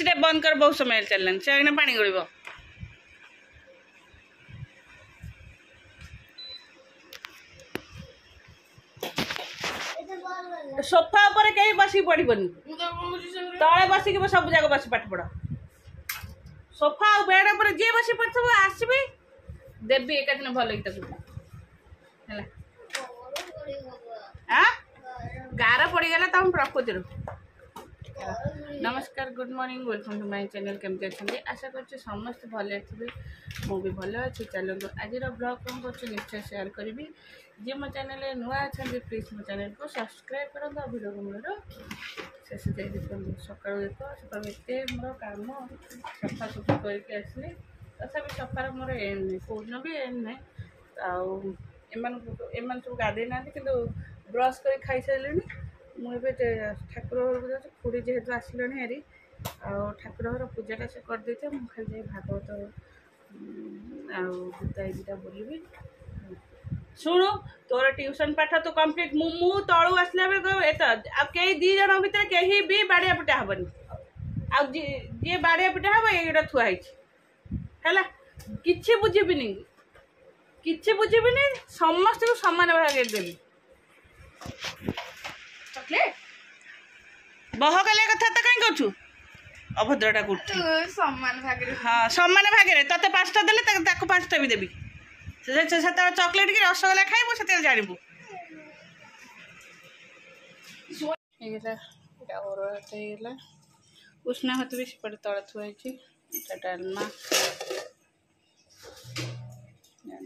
ଏସିଟା ବନ୍ଦ କର, ବହୁତ ସମୟ ଚାଲିଲାଣି, ସେ ଏଇନା ପାଣି ଗଳିବ। ସୋଫା ଉପରେ କେହି ବସିକି ପଢିବନି, ତଳେ ବସିକି ସବୁ ଯାକ ବସି ପାଠ ପଢ। ସୋଫା ଆଉ ବେଡ୍ ଉପରେ ଯିଏ ବସି ପଢୁଥିବ ଆସିବି ଦେବି ଏକାଦିନ ଭଲ କି ତାକୁ, ହେଲା? ଗାର ପଡ଼ିଗଲା ତମ ପ୍ରକୃତିରୁ। ନମସ୍କାର, good morning, welcome to my channel. କେମିତି ଅଛନ୍ତି? ଆଶା କରୁଛି ସମସ୍ତେ ଭଲରେ ଥିବେ, ମୁଁ ବି ଭଲ ଅଛି। ଚାଲନ୍ତୁ ଆଜିର ବ୍ଲଗ୍ କ'ଣ କରୁଛି ନିଶ୍ଚୟ ସେୟାର କରିବି। ଯିଏ ମୋ ଚ୍ୟାନେଲରେ ନୂଆ ଅଛନ୍ତି ପ୍ଲିଜ୍ ମୋ ଚ୍ୟାନେଲକୁ ସବସ୍କ୍ରାଇବ୍ କରନ୍ତୁ ଆଉ ଭିଡ଼ିଓକୁ ମୋର ଶେଷ ଯାଇ ଦେଖନ୍ତୁ। ସକାଳୁ ଦେଖ, ସକାଳୁ ଏତେ ମୋର କାମ, ସଫାସୁଫି କରିକି ଆସିଲି, ତଥାପି ସଫାର ମୋର ଏଣ୍ଡ ନାହିଁ, କେଉଁଦିନ ବି ଏଣ୍ଡ ନାହିଁ। ଆଉ ଏମାନଙ୍କୁ ଏମାନେ ସବୁ ଗାଧେଇ ନାହାନ୍ତି, କିନ୍ତୁ ବ୍ରସ୍ କରି ଖାଇସାରିଲେଣି। ମୁଁ ଏବେ ଠାକୁର ଘରକୁ ଯାଉଛି, ଖୁଡ଼ି ଯେହେତୁ ଆସିଲେଣି ହେରି, ଆଉ ଠାକୁର ଘର ପୂଜାଟା ସେ କରିଦେଇଥିବେ, ମୁଁ ଖାଲି ଯାଇ ଭାଗବତ ଆଉ ଗୀତା ଦୁଇଟା ବୋଲିବି। ଶୁଣୁ, ତୋର ଟ୍ୟୁସନ୍ ପାଠ ତୁ କମ୍ପ୍ଲିଟ୍। ମୁଁ ତଳୁ ଆସିଲା ବେଳେ ଏତ ଆଉ କେହି ଦୁଇ ଜଣ ଭିତରେ କେହି ବି ବାଡ଼ିଆ ପିଟା ହେବନି। ଆଉ ଯିଏ ବାଡ଼ିଆ ପିଟା ହେବ ଏଇଟା ଥୁଆ ହେଇଛି, ହେଲା? କିଛି ବୁଝିବିନି, କିଛି ବୁଝିବିନି, ସମସ୍ତଙ୍କୁ ସମାନ ଭାଗରେ ଦେବି। ବହକାଲିଆ କଥା ତ କାହିଁ କରୁଛୁ? ଅଭଦ୍ରଟା କରୁଛୁ। ସମାନ ଭାଗରେ, ହଁ ସମାନ ଭାଗରେ। ତତେ 5ଟା ଦେଲେ ତାକୁ 5ଟା ବି ଦେବି। ସେତେବେଳେ ଚକୋଲେଟ୍ କି ରସଗୋଲା ଖାଇବୁ, ସେତେବେଳେ ଜାଣିବୁ। ହେଇଗଲା ଏଇଟା, ଅରୁଆ ଭାତ ହେଇଗଲା, ଉଷୁନା ଭାତ ବି ସେପଟେ ତଳେ ଥୁଆ ହେଇଛି। ଏଇଟା ଡାଲମା,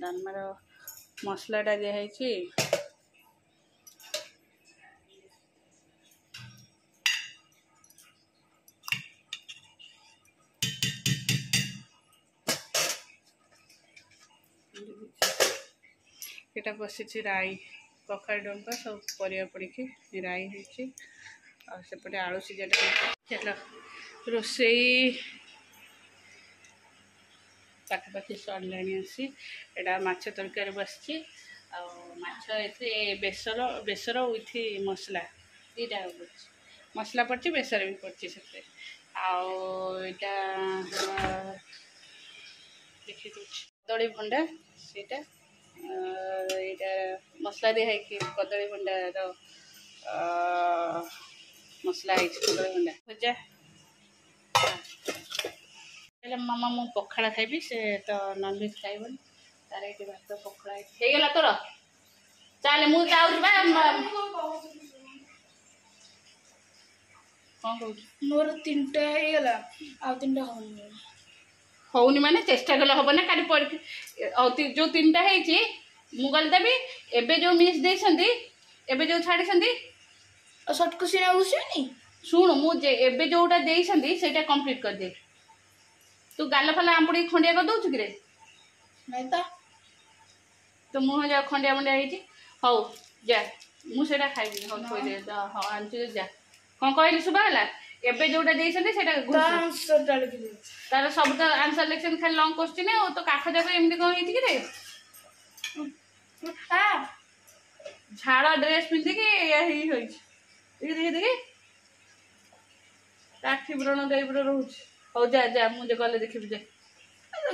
ଡାଲମାର ମସଲାଟା ଦିଆହେଇଛି। ଏଇଟା ବସିଛି ରାଇ, କଖାରୁ ଡଙ୍କ ସବୁ ପରିବା ପଡ଼ିକି ରାଇ ହେଇଛି। ଆଉ ସେପଟେ ଆଳୁ ସିଝାଟା। ଚାଲ, ରୋଷେଇ ପାଖାପାଖି ସରିଲାଣି ଆସି। ଏଇଟା ମାଛ ତରକାରୀ ବସିଛି, ଆଉ ମାଛ ଏଥିରେ ବେସର, ବେସର ୱିଥ୍ ମସଲା ଦୁଇଟା ପଡ଼ିଛି। ମସଲା ପଡ଼ିଛି, ବେସର ବି ପଡ଼ିଛି ସେଥିରେ। ଆଉ ଏଇଟା ଦେଖି ଦେଉଛି, କଦଳୀ ଭଣ୍ଡା ସେଇଟା, ଏଇଟା ମସଲା ଦିଆ ହେଇକି କଦଳୀ ଭଣ୍ଡାର ମସଲା ହେଇଛି, କଦଳୀ ଭଣ୍ଡା ଭଜା। ହେଲେ ମାମା ମୁଁ ପଖାଳ ଖାଇବି, ସେ ତ ନନଭେଜ୍ ଖାଇବନି। ତାର ଏଇଠି ଭାତ ପଖାଳ ହେଇଗଲା। ତୋର ଚାଲେ, ମୁଁ ଯାଉଛି ବା। କ'ଣ କହୁଛୁ? ମୋର 3ଟା ହେଇଗଲା, ଆଉ 3ଟା ହଉନି। ହଉନି ମାନେ ଚେଷ୍ଟା କଲେ ହବ ନା। କାଲି ପରୀକ୍ଷା, ଯୋଉ 3ଟା ହେଇଛି ମୁଁ ଗଲେ ଦେବି। ଏବେ ଯୋଉ ମିସ୍ ଦେଇଛନ୍ତି, ଏବେ ଯୋଉ ଛାଡ଼ିଛନ୍ତି ସର୍ଟ କୋଶ୍ଚିନ୍ ଆଉ ଆସିବନି। ଶୁଣୁ, ମୁଁ ଏବେ ଯୋଉଟା ଦେଇଛନ୍ତି ସେଇଟା କମ୍ପ୍ଲିଟ୍ କରିଦେ। ତୁ ଗାଲ ଫାଲ ଆମ୍ପୁଡ଼ିକି ଖଣ୍ଡିଆ କରିଦଉଛୁ କିରେ? ନାଇଁ ତ। ତୋ ମୁହଁ ଯା ଖଣ୍ଡିଆ ମଣ୍ଡିଆ ହେଇଛି। ହଉ ଯା, ମୁଁ ସେଇଟା ଖାଇବିନି। ହଉ ଥୋଇଦେ। ହଁ ଆଣିଛୁ ଯା। କ'ଣ କହିଲି ଶୁଭା ହେଲା? ଏବେ ଯୋଉଟା ଦେଇଛନ୍ତି ସେଇଟା ତାର ସବୁ ତ ଆନ୍ସର ଲେଖିଛନ୍ତି, ଖାଲି ଲଙ୍ଗ କୋଶ୍ଚିନ୍। ଆଉ ତୋ କାଖ ଯାକ ଏମିତି କ'ଣ ହେଇଛି କିରେ? ଝାଳ ଡ୍ରେସ୍ ପିନ୍ଧିକି ଏଇଆ ହେଇ ହେଇଛି। ଦେଖି ଦେଖି ଦେଖି, ଆଖି ବ୍ରଣ ଟାଇପର ରହୁଛି। ହଉ ଯା ଯା, ମୁଁ ଗଲେ ଦେଖିବି। ଯା।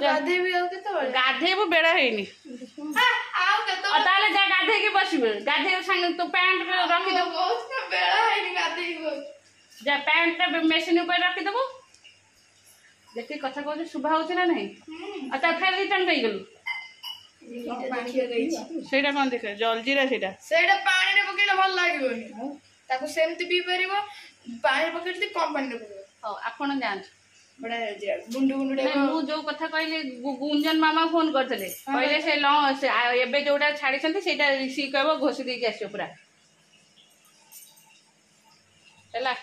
ଗାଧେଇବି ଆଉ କେତେବେଳେ? ଗାଧେଇବୁ, ବେଳ ହେଇନି। ତାହେଲେ ଯା ଗାଧେଇକି ବସିବୁ, ଗାଧେଇବୁ ସାଙ୍ଗେ। ତୁ ପ୍ୟାଣ୍ଟ ରଖିଦେବୁ, ବେଳ ହେଇନି, ଗାଧେଇବୁ। ଯା, ପ୍ୟାଣ୍ଟଟା ମେସିନ୍ ଉପରେ ରଖିଦେବୁ। ଦେଖିକି କଥା କହୁଛୁ, ଶୁଭା ହଉଛି ନା ନାହିଁ? ଆଉ ତା ଫେର ରିଟର୍ନ ହେଇଗଲୁ। ସେଇଟା କ'ଣ ଦେଖ, ଜଲଜିରା ସେଇଟା। ସେଇଟା ପାଣିରେ ପକେଇଲେ ଭଲ ଲାଗିବନି, ତାକୁ ସେମିତି ପିଇ ପାରିବ। ପାଣିରେ ପକେଇଲେ କମ ପାଣିରେ ପକେଇବ। ହଉ ଆପଣ ଯାଆନ୍ତୁ। ବଢିଆ ଗୁଣ୍ଡୁ ଗୁଣ୍ଡୁ। ମୁଁ ଯୋଉ କଥା କହିଲି, ଗୁଞ୍ଜନ ମାମା ଫୋନ କରିଥିଲେ, କହିଲେ ସେ ଏବେ ଯୋଉଟା ଛାଡିଛନ୍ତି ସେଇଟା ରିସିଭ୍ କହିବ, ଘୋଷି ଦେଇକି ଆସିବ ପୁରା, ହେଲା?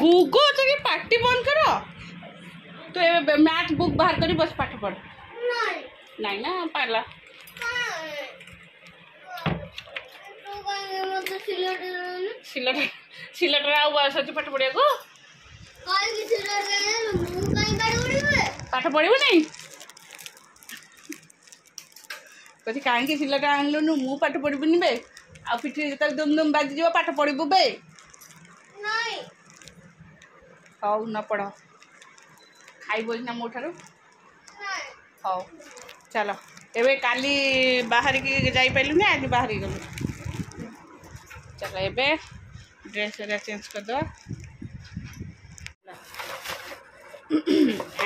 ଗୁଗୁ, ଟିକେ ପାଟି ବନ୍ଦ କର। ତୁ ଏବେ ମ୍ୟାଥ୍ ବୁକ୍ ବାହାର କରି ବସ, ପାଠ ପଢ। ନାଇଁ ନା ପାରିଲା। ସିଲଟ, ସିଲଟରେ ଆଉ ବୟସ ଅଛି ପାଠ ପଢିବାକୁ? ପାଠ ପଢିବୁ ନାଇଁ? କହୁଛି କାହିଁକି ସିଲଟ ଆଣିଲୁନୁ, ମୁଁ ପାଠ ପଢିବୁନି ବେ। ଆଉ ପିଠି ଯେତେବେଳେ ଦୁମ୍ ଦୁମ୍ ବାଜିଯିବ ପାଠ ପଢିବୁ ବେ? ହଉ ନ ପଢ଼, ଖାଇବ ନା ମୋ ଠାରୁ। ହଉ ଚାଲ, ଏବେ କାଲି ବାହାରିକି ଯାଇପାରିଲୁନି, ଆଜି ବାହାରିକି ଗଲୁ। ଚାଲ ଏବେ ଡ୍ରେସ୍ ହେରିକା ଚେଞ୍ଜ କରିଦେବା।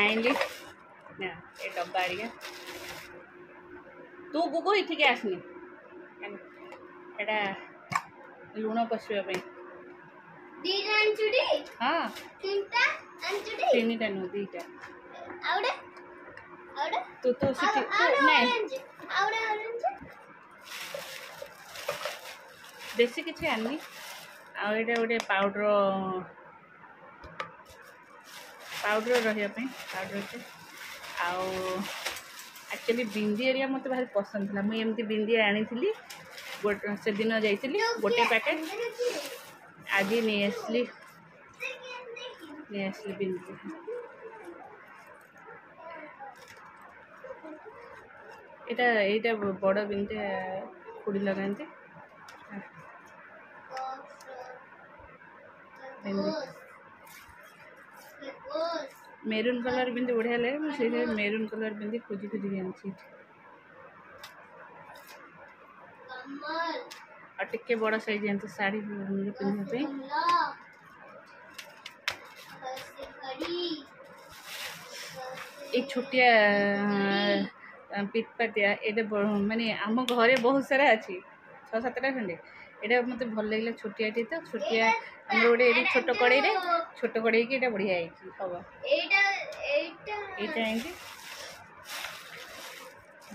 ଆଣିଲି ନା ଏ ଡବା ହେରିକା। ତୁ ଗୁଗୁ ଏଠିକି ଆସିନି। ଏଇଟା ଲୁଣ ପଶିବା ପାଇଁ। ହଁ, ତିନିଟା ନୁହଁ, 2ଟା। ତୁ ତୁ ସେଠି ନାଇଁ, ବେଶୀ କିଛି ଆଣିନି। ଆଉ ଏଇଟା ଗୋଟେ ପାଉଡ଼ର, ପାଉଡ଼ର ରହିବା ପାଇଁ ପାଉଡ଼ରଟେ। ଆଉ ଆକ୍ଚୁଆଲି ବିନ୍ଦି ଏରିଆ ମୋତେ ଭାରି ପସନ୍ଦ ଥିଲା, ମୁଁ ଏମିତି ବିନ୍ଦି ଆଣିଥିଲି ଗୋଟେ, ସେଦିନ ଯାଇଥିଲି ଗୋଟେ ପ୍ୟାକେଟ୍, ଆଜି ନେଇ ଆସିଲି, ନେଇ ଆସିଲି ବିନ୍ଦି। ଏଇଟା ଏଇଟା ବଡ଼ ବିନ୍ଦି ଖୁଡ଼ି ଲଗାନ୍ତି। ବିନ୍ଦି ମେରୁନ୍ କଲର୍ ବିନ୍ଦି ବଢ଼ିଆ ଲାଗେ, ମୁଁ ସେଇଥିପାଇଁ ମେରୁନ୍ କଲର୍ ବିନ୍ଦି ଖୋଜି ଖୋଜିକି ଆଣିଛି ଏଠି। ଆଉ ଟିକେ ବଡ଼ ସାଇଜ୍ ଆଣିଛି ଶାଢ଼ୀ ପିନ୍ଧିବା ପାଇଁ। ଏଇ ଛୋଟିଆ ପିତପାତିଆ ଏଇଟା ମାନେ ଆମ ଘରେ ବହୁତ ସାରା ଅଛି, 6-7ଟା ଖଣ୍ଡେ। ଏଇଟା ମୋତେ ଭଲ ଲାଗିଲା ଛୋଟିଆଟି ତ, ଛୋଟିଆ ଆମର ଗୋଟେ ଏଇଠି ଛୋଟ କଡ଼େଇରେ, ଛୋଟ କଡ଼େଇକି ଏଇଟା ବଢ଼ିଆ ହେଇଛି ହବ। ଏଇଟା ଆଣିଛି।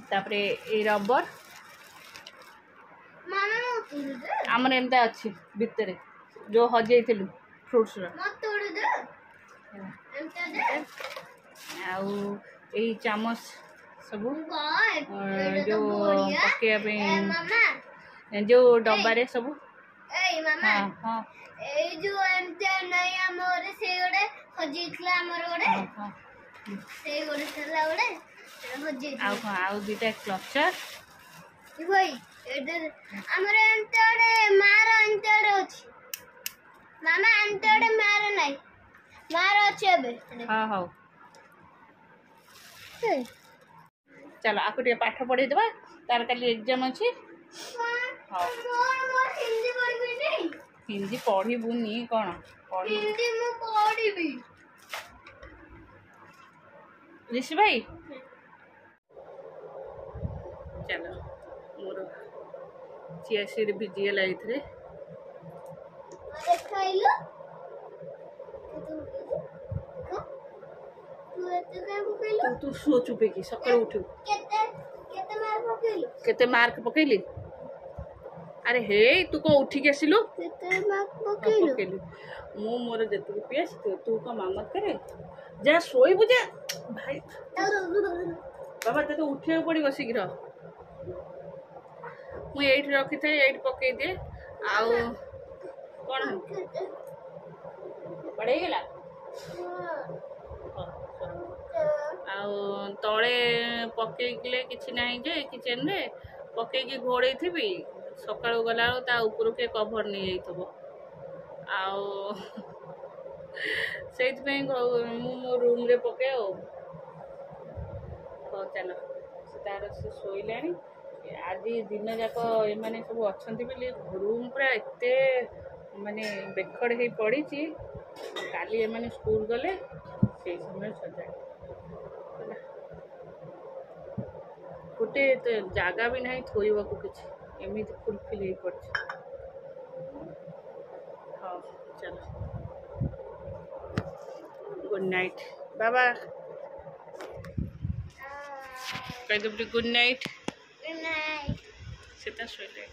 ତାପରେ ଏଇ ରବର ଆମର ଏମିତି ଅଛି ଭିତରେ, ଯୋଉ ହଜେଇଥିଲୁ ଫ୍ରୁଟ୍ସର। ଆଉ ଏଇ ଚାମଚ ସବୁ ଯୋଉ ପକେଇବା ପାଇଁ ଯୋଉ ଡବାରେ ସବୁ। ହଁ ହଁ, ଏଇ ଯୋଉ ଏମିତି ନାଇଁ ଆମ ଘରେ, ସେଇ ଗୋଟେ ହଜିଯାଇଥିଲା ଆମର ଗୋଟେ, ସେଇ ଗୋଟେ ଥିଲା ଗୋଟେ ହଜିଯାଇଥିଲା। ଆଉ କଣ? ଆଉ 2ଟା କ୍ଲଚର। ଭାଇ, ଏଇଟା ଆମର ଏମିତି ଗୋଟେ ମାର ଏମିତି ଗୋଟେ ଅଛି ମାମା, ଏମିତି ଗୋଟେ ମାର ନାଇଁ, ମାର ଅଛି ଏବେ। ହଁ ହଉ ଚାଲ, ଆକୁ ଟିକେ ପାଠ ପଢ଼େଇଦେବା, ତାର କାଲି ଏକ୍ଜାମ୍ ଅଛି। ହଉ, ହିନ୍ଦୀ ପଢ଼ିବୁନି କ'ଣ? ହିନ୍ଦୀ ମୁଁ ପଢ଼ିବି। ঋଷି ଭାଇ ଚାଲ, ମୋର ଚିଆ ସିଡ୍ ଭିଜିଗଲା ଏଇଥିରେ। ଦେଖାଇଲୁ, ତୁ ଶୋ ଚୁପେଇକି, ସକାଳୁ ଉଠିବୁ। କେତେ ମାର୍କ ପକେଇଲି? ଆରେ ହେଇ, ତୁ କ'ଣ ଉଠିକି ଆସିଲୁ? ପକେଇଲୁ ମୁଁ ମୋର ଯେତିକି ପିଏ, ତୁ କ'ଣ ମାମତ କରେ? ଯା ଶୋଇବୁ ଯା। ଭାଇ ବାବା, ତତେ ଉଠିବାକୁ ପଡ଼ିବ ଶୀଘ୍ର। ମୁଁ ଏଇଠି ରଖିଥାଏ, ଏଇଠି ପକେଇଦିଏ। ଆଉ କ'ଣ ପଡ଼େଇଗଲା? ଆଉ ତଳେ ପକେଇଲେ କିଛି ନାହିଁ ଯେ, କିଚେନରେ ପକେଇକି ଘୋଡ଼େଇଥିବି, ସକାଳୁ ଗଲାବେଳକୁ ତା ଉପରୁ କିଏ କଭର ନେଇଯାଇଥିବ। ଆଉ ସେଇଥିପାଇଁ ମୁଁ ମୋ ରୁମ୍ରେ ପକାଏ। ଆଉ ହଉ ଚାଲ, ସେ ତାର ସେ ଶୋଇଲାଣି। ଆଜି ଦିନ ଯାକ ଏମାନେ ସବୁ ଅଛନ୍ତି ବୋଲି ରୁମ୍ ପୁରା ଏତେ ମାନେ ବେଖଡ଼ ହେଇ ପଡ଼ିଛି। କାଲି ଏମାନେ ସ୍କୁଲ ଗଲେ ସେଇ ସମୟରେ ସଜାଡ଼େ। ଗୋଟେ ଜାଗା ବି ନାହିଁ ଥୋଇବାକୁ କିଛି, ଏମିତି ଫୁଲଫିଲ୍ ହେଇ ପଡ଼ିଛି। ହଉ ଚାଲ, ଗୁଡ୍ ନାଇଟ୍ ବାବା, କହିଦେବୁ ଗୁଡ୍ ନାଇଟ୍। ସେଟା ଶୋଇଲେ।